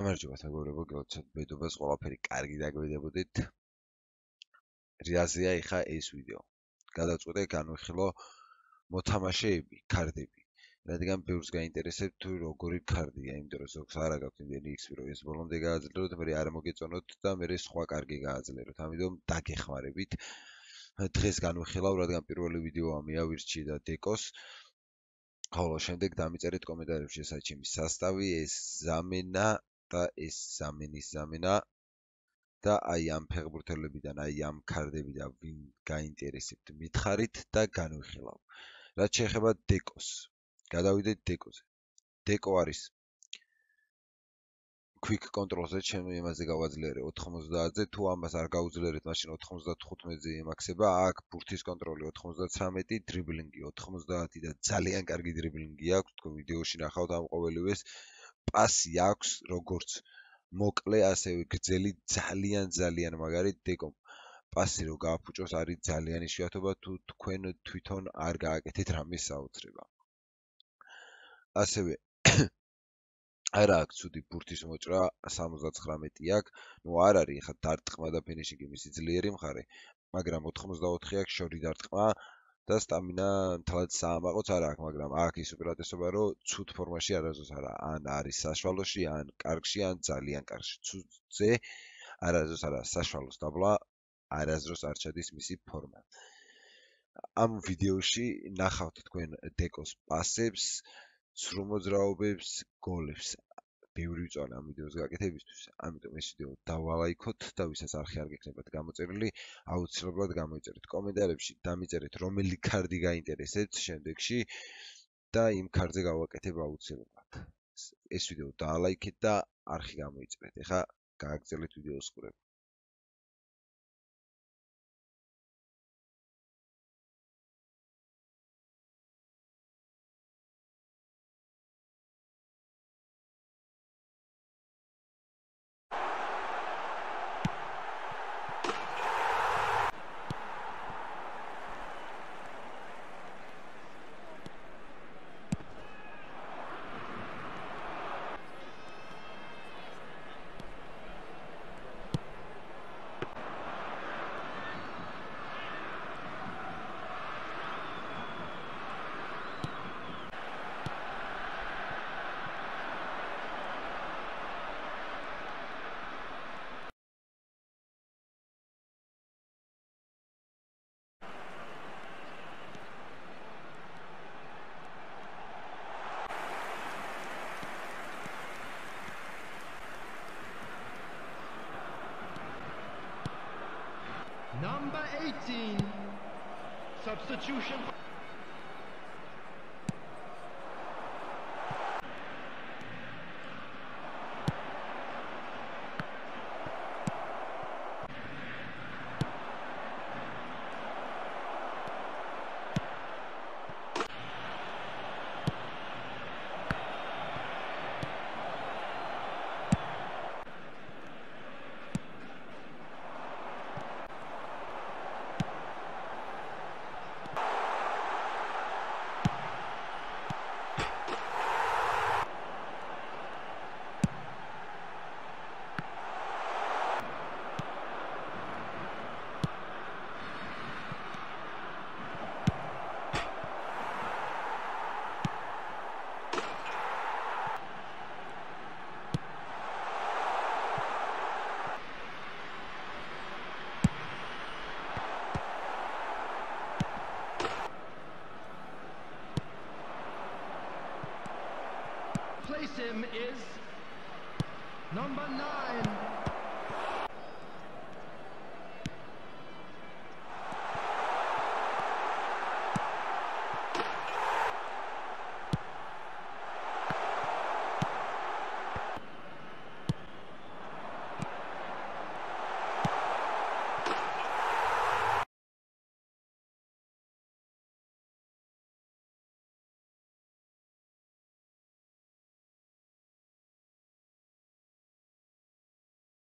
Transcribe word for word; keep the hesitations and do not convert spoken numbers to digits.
გამარჯობა მეგობრებო, გელოცოთ მედობას ყველაფერი კარგი დაგვიდებოდით. რაზეა ეხა ეს ვიდეო. გადავწყვიტე განვიხილო მოთამაშეები, ქარდები. რადგან ბევრს გაინტერესებს თუ როგორი ქარდია, იმიტომ რომ ზოგს არ აქვს იმდენი ექსპი, რომ ეს ბოლომდე გააძლიეროთ, მე არ მოგეწონოთ და მე სხვა კარგი გააძლიეროთ. ამიტომ დაგეხმარებით. დღეს განვიხილავ, რადგან პირველი ვიდეოა მეავირჩიე და დეკოს. ხოლო შემდეგ დამიწერეთ კომენტარებში საჩემის სასტავი, ეს ზამენა და ეს ზამენის ზამენა და აი ამ ფეხბურთელებიდან, აი ამ ქარდებიდან ვინ გაინტერესებთ მითხარით და განვიხილავ. რაც შეეხება დეკოს. გადავიდეთ დეკოზე. დეკო არის quick control-ზე, ჩემი იმაზე გავაძლიერე ოთხმოცდაათზე, თუ ამას არ გაუძლიერეთ, მაშინ ოთხმოცდათხუთმეტზე იმაქსება, აქ ბურთის კონტროლი ოთხმოცდათვრამეტი, დრიბლინგი ოთხმოცდაათი და ძალიან კარგი დრიბლინგი აქვს, თქვენ ვიდეოში ნახავთ ამ ყოველივეს. პასი აქვს, როგორც მოკლე, ასევე გრძელი, ძალიან ძალიან მაგარი დეკომ. პასი რო გააფუჭოს არის ძალიან იშვიათობა, თუ თქვენ თვითონ არ გააკეთეთ რამე საოცრება. ასევე არა აქვს ცუდი ბურთის მოჭრა, სამოცდაცხრამეტი აქვს, ნუ არ არის ხა დარტყმა და ფინიშინგი მისი ძლიერი მხარე, მაგრამ ოთხმოცდაოთხი აქვს შორი დარტყმა და სტამინა თალად საამაყოც არ აქვს, მაგრამ აქ ის უპირატესობა, რომ ცუდ ფორმაში არასდროს არა, ან არის საშუალოში, ან კარგში, ან ძალიან კარგში. ცუდზე არასდროს არა, საშუალოს დაბლა არასდროს არ ჩადის მისი ფორმა. ამ ვიდეოში ნახავთ თქვენ დეკოს პასებს, სრულ მოძრაობებს, გოლებს. ბევრი ვიწვალე ამ ვიდეოს გაკეთებისთვის, ამიტომ ეს ვიდეო დავალაიქოთ და ვისაც არხი არ გექნებათ გამოწერილი, აუცილებლად გამოიწერეთ კომენტარებში, დამიწერეთ რომელი ქარდი გაინტერესებთ შემდეგში და იმ ქარდზე გავაკეთებ აუცილებლად. ეს ვიდეო დაალაიქეთ და არხი გამოიწერეთ. ეხლა გააგრძელეთ ვიდეოს ყურება. Number eighteen, substitution. Place him is number nine.